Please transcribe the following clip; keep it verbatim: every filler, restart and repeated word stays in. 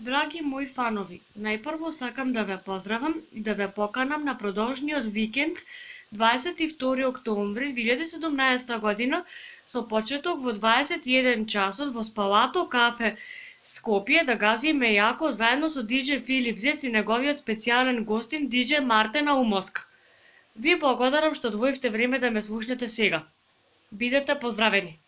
Драги мои фанови, најпрво сакам да ве поздравам и да ве поканам на продолжниот викенд дваесет и втори октомври две илјади и седумнаесета година со почеток во дваесет и еден часот во Спалато кафе Скопје да газиме јако заедно со диџеј Филип Зец и неговиот специјален гостин диџеј Мартен Аумовска. Ви благодарам што одвоивте време да ме слушнете сега. Бидете поздравени!